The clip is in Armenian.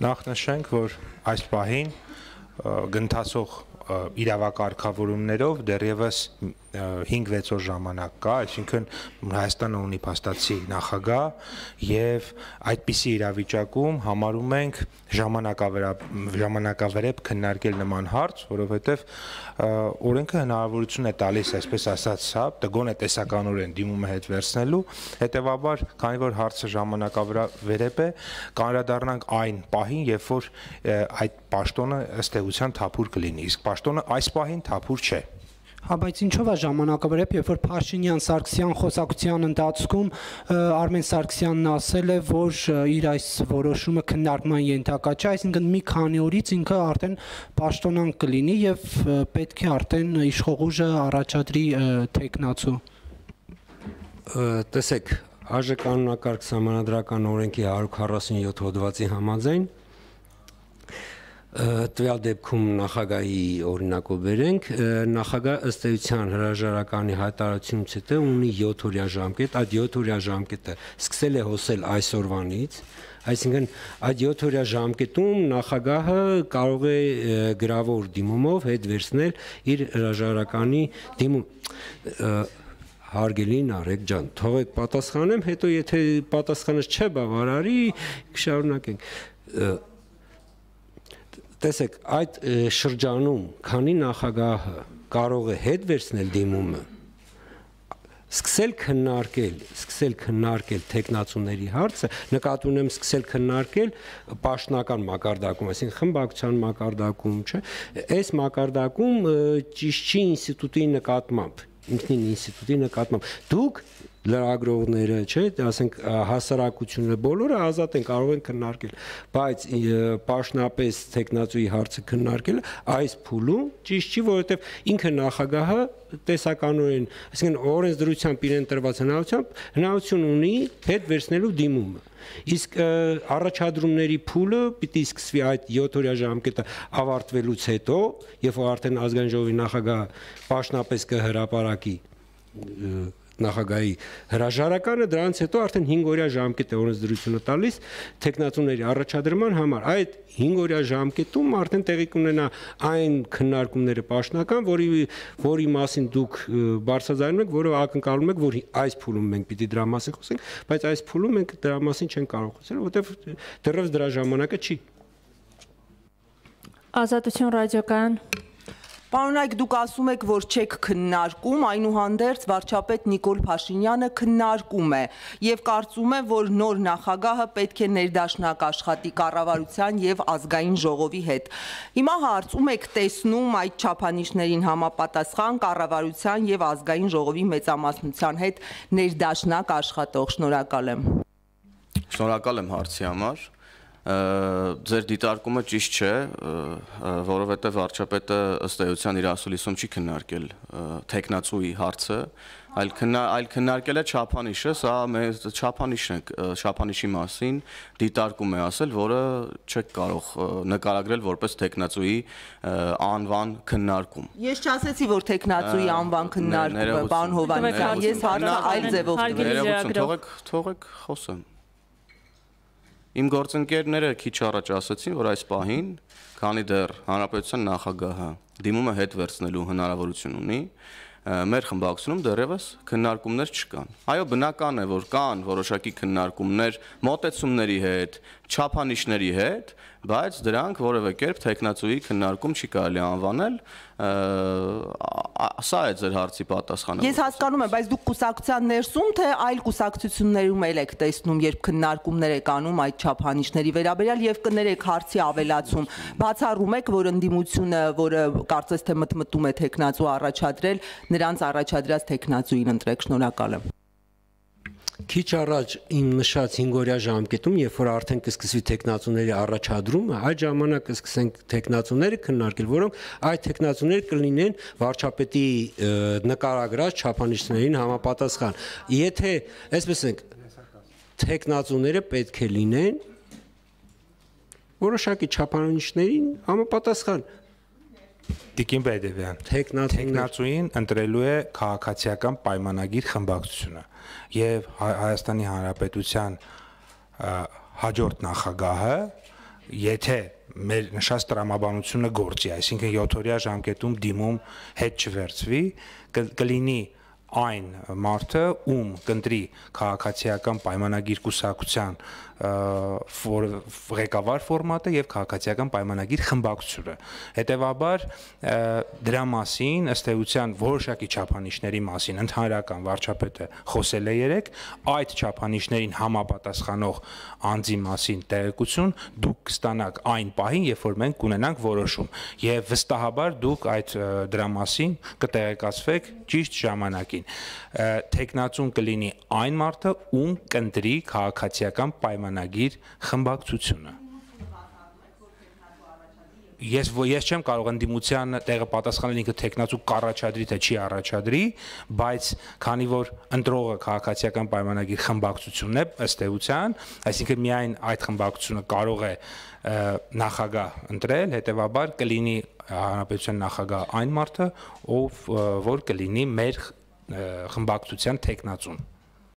Նախ նշենք, որ այս պահին գնթացող իրավակարգավորումներով դեռևս 5-6 օր ժամանակ կա, այսինքն Հայաստանը ունի փաստացի նախագահ եւ այդպիսի իրավիճակում համարում ենք ժամանակավերեպ քննարկել նման հարց, որովհետեւ օրենքը հնարավորություն է տալիս, այսպես ասած, տգոն է տեսականորեն դիմումը հետ վերցնելու, հետեւաբար, քանի որ հարցը ժամանակավերեպ է, կանրադառնանք այն պահին, երբ որ այդ պաշտոնը ըստ էության թափուր կլինի, իսկ պաշտոնը այս պահին թափուր չէ։ Հա, բայց ինչով է ժամանակավերեպ, երբ որ Փաշինյան-Սարգսյան խոսակցության ընթացքում Արմեն Սարգսյանն ասել է, որ իր այս որոշումը քննարկման ենթակա չէ, այսինքն մի քանի օրից ինքը արդեն պաշտոնանկ կլինի եւ պետք է արդեն իշխող ուժը առաջադրի տեխնացու։ Տեսեք, ԱԺ կանոնակարգ սահմանադրական օրենքի 147 հոդվածի համաձայն տվյալ դեպքում նախագահի օրինակով վերենք, նախագահ ըստ էության հրաժարականի հայտարարությունից հետո ունի 7-օրյա ժամկետ, այդ 7-օրյա ժամկետը սկսել է հոսել այսօրվանից, այսինքն այդ 7-օրյա ժամկետում նախագահը կարող է գրավոր դիմումով հետ վերցնել իր հրաժարականի դիմում։ Հարգելի Նարեկ ջան, թողեք պատասխանեմ, հետո եթե պատասխանը չէ բավարարի, կշարունակենք։ Տեսեք, այդ շրջանում, քանի նախագահը կարող է հետ վերցնել դիմումը, սկսել քննարկել տեխնացուների հարցը, նկատի ունեմ սկսել քննարկել պաշտոնական մակարդակում, այսինքն խմբակցության մակարդակում, չէ, այս մակարդակում ճիշտ չի ինստիտուտի նկատմամբ, ինքնին ինստիտուտի նկատմամբ, դուք լրագրողները, չէ, ասենք հասարակությունը բոլորը ազատ են կարող են քննարկել, բայց պաշտոնապես տեխնացուի հարցը քննարկելը այս փուլում ճիշտ չի, որովհետև ինքը նախագահը տեսականորեն, այսինքն օրենսդրությամբ իրեն տրված հնարավորություն ունի հետ վերցնելու դիմումը։ Իսկ առաջադրումների փուլը պիտի սկսվի այդ 7-օրյա ժամկետը ավարտվելուց հետո, երբ որ արդեն ազգային ժողովի նախագահը պաշտոնապես կհրապարակի նախագահի հրաժարականը, դրանից հետո արդեն 5-օրյա ժամկետ է օրենսդրությունը տալիս տեխնացուների առաջադրման համար։ Այդ 5-օրյա ժամկետում արդեն տեղի կունենա այն քննարկումները պաշտոնական, որի մասին դուք բարձրաձայնում եք, որը ակնկալում եք, որ այս փուլում մենք պիտի դրա մասին խոսենք, բայց այս փուլում մենք դրա մասին չենք կարող խոսել, որովհետև դեռևս դրա ժամանակը չի։ Ազատություն ռադիոկայան։ Պարոն Այգ, դուք ասում եք, որ չեք քննարկում, այնուհանդերձ վարչապետ Նիկոլ Փաշինյանը քննարկում է եւ կարծում է, որ նոր նախագահը պետք է ներդաշնակ աշխատի կառավարության եւ ազգային ժողովի հետ։ Հիմա հարցում եք տեսնում այդ չափանիշներին համապատասխան կառավարության եւ ազգային ժողովի մեծամասնության հետ ներդաշնակ աշխատող։ Շնորհակալ եմ։ Շնորհակալ եմ հարցի համար։ Ձեր դիտարկումը ճիշտ չէ, որովհետև վարչապետը ըստ էության իր ասուլիսում չի քննարկել տեխնացուի հարցը, այլ քննարկել է չափանիշը, սա մեր չափանիշի մասին դիտարկում է ասել, որը չեք կարող նկարագրել որպես տեխնացուի անվան քննարկում։ Ես չասեցի, որ տեխնացուի անվան քննարկում է, պարոն Հովհաննիսյան, ես հարցը այլ ձևով տվեցի։ Թողեք խոսեմ։ Իմ գործընկերները քիչ առաջ ասացին, որ այս պահին, քանի դեռ հանրապետության նախագահը դիմումը հետ վերցնելու հնարավորություն ունի, մեր խմբակցությունում դեռևս քննարկումներ չկան։ Այո, բնական է, որ կան որոշակի քննարկումներ մոտեցումների հետ, չափանիշների հետ, բայց դրանք որևէ կերպ տեխնացուի քննարկում չի կարելի անվանել, սա է ձեր հարցի պատասխանը։ Ես հասկանում եմ, բայց դուք կուսակցության ներսում, թե այլ կուսակցություններում եք տեսնում, երբ քննարկումներ եք անում այդ չափանիշների վերաբերյալ եւ կներեք հարցի ավելացում, բացառում եք, որ ընդդիմությունը, որը կարծես թե մտմտում է տեխնացու առաջադրել, նրանց առաջադրած տեխնացուին ընտրեք։ Շնորհակալ եմ։ Քիչ առաջ իմ նշած 5-օրյա ժամկետում, երբ որ արդեն կսկսվի տեխնացուների առաջադրումը, այդ ժամանակ կսկսենք տեխնացուները քննարկել, որոնք այդ տեխնացուները կլինեն վարչապետի նկարագրած չափանիշներին համապատասխան։ Եթե, այսպես ենք, տեխնացուները պետք է լինեն որոշակի չափանիշներին համապատասխան։ Տիկին Բեդևյան, տեխնացուին ընտրելու է քաղաքացիական պայմանագիր խմբակցությունը եւ Հայաստանի Հանրապետության հաջորդ նախագահը եթե մեր նշած տրամաբանությունը գործի, այսինքն 7-օրյա ժամկետում դիմում հետ չվերցվի, կլինի այն մարդը, ում կընտրի քաղաքացիական պայմանագիր կուսակցության ղեկավար ֆորմատը եւ քաղաքացիական պայմանագիր խմբակցությունը։ Հետևաբար դրա մասին ըստ էության որոշակի չափանիշների մասին ընդհանրական վարչապետը խոսել է երեք, այդ չափանիշներին համապատասխանող անձի մասին տեղեկություն դուք կստանաք այն պահին, երբ որ մենք կունենանք որոշում, եւ վստահաբար դուք այդ դրա մասին կտեղեկացվեք ճիշտ ժամանակին։ Տեխնացուն կլինի այն մարդը, ում կընտրի քաղաքացիական պայմանագիր խմբակցությունը։ Ես չեմ կարող ընդդիմության տեղը պատասխանել ինքը տեխնացու կառաջադրի թե չի առաջադրի, բայց քանի որ ընտրողը քաղաքացիական պայմանագիր խմբակցությունն է ըստ էության, այսինքն միայն այդ խմբակցությունը կարող է նախագահ ընտրել, հետեւաբար կլինի հանրապետության նախագահ այն մարդը, ով որ կլինի մեր խմբակցության տեխնացուն։